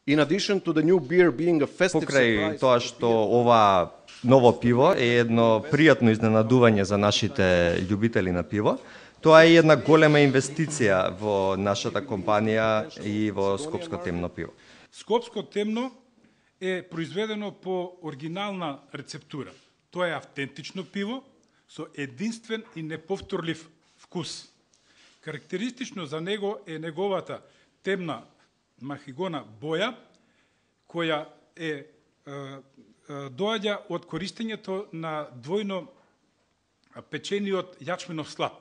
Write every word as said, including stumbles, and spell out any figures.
In addition to the new beer being a festive Покрај surprise, тоа што ова ново пиво е едно пријатно изненадување за нашите љубители на пиво, тоа е една голема инвестиција во нашата компанија и во Скопско темно пиво. Скопско темно е произведено по оригинална рецептура. Тоа е автентично пиво со единствен и неповторлив вкус. Карактеристично за него е неговата темна махигона боја, која е, е, е доаѓа од користењето на двојно печениот јачменов слад.